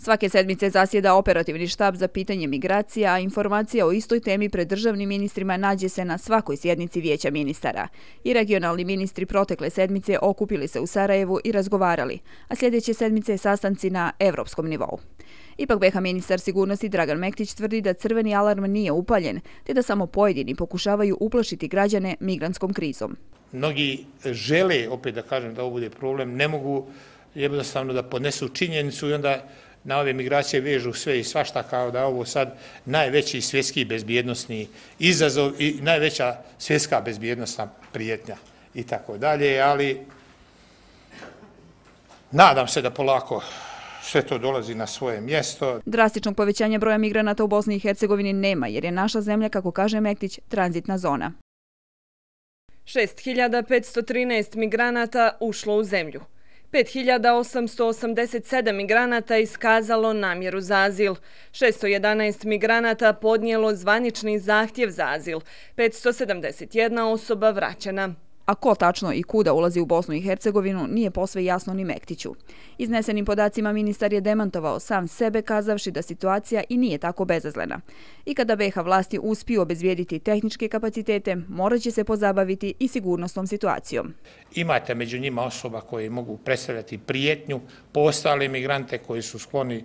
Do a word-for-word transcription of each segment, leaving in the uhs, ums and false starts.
Svake sedmice zasjeda operativni štab za pitanje migracija, a informacija o istoj temi pred državnim ministrima nađe se na svakoj sjednici Vijeća ministara. I regionalni ministri protekle sedmice okupili se u Sarajevu i razgovarali, a sljedeće sedmice sastanci na evropskom nivou. Ipak be ha ministar sigurnosti Dragan Mektić tvrdi da crveni alarm nije upaljen, te da samo pojedini pokušavaju uplašiti građane migrantskom krizom. Mnogi žele, opet da kažem da ovo bude problem, ne mogu jednostavno da podnesu činjenicu i onda na ove migracije vežu sve i svašta, kao da ovo sad najveći svjetski bezbjednosni izazov i najveća svjetska bezbjednosna prijetnja i tako dalje, ali nadam se da polako sve to dolazi na svoje mjesto. Drastičnog povećanja broja migranata u Bosni i Hercegovini nema, jer je naša zemlja, kako kaže Mektić, tranzitna zona. šest hiljada petsto trinaest migranata ušlo u zemlju. pet hiljada osamsto osamdeset sedam migranata iskazalo namjeru za azil, šesto jedanaest migranata podnijelo zvanični zahtjev za azil, petsto sedamdeset jedna osoba vraćena. A ko tačno i kuda ulazi u Bosnu i Hercegovinu nije posve jasno ni Mektiću. Iznesenim podacima ministar je demantovao sam sebe, kazavši da situacija i nije tako bezazlena. I kada be ha vlasti uspiju obezbijediti tehničke kapacitete, morat će se pozabaviti i sigurnosnom situacijom. Imate među njima osoba koje mogu predstavljati prijetnju po ostale migrante koji su skloni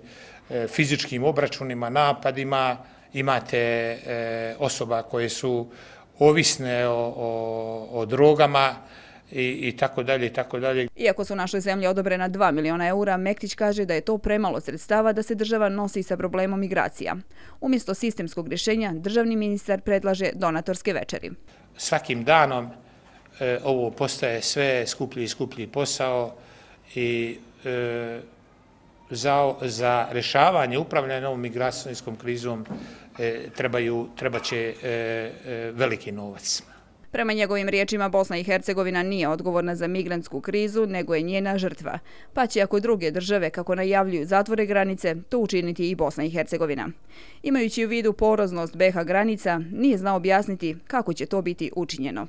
fizičkim obračunima, napadima, imate osoba koje su ovisne o, o, o drogama i, i tako dalje i tako dalje. Iako su našoj zemlji odobrena dva miliona eura, Mektić kaže da je to premalo sredstava da se država nosi sa problemom migracija. Umjesto sistemskog rješenja, državni ministar predlaže donatorske večeri. Svakim danom e, ovo postaje sve skuplji i skuplji posao i e, za, za rješavanje, upravljanje ovom migracijskom krizom e, trebaju, treba će e, e, veliki novac. Prema njegovim riječima, Bosna i Hercegovina nije odgovorna za migrantsku krizu, nego je njena žrtva. Pa će, ako druge države, kako najavljuju, zatvore granice, to učiniti i Bosna i Hercegovina. Imajući u vidu poroznost be ha granica, nije znao objasniti kako će to biti učinjeno.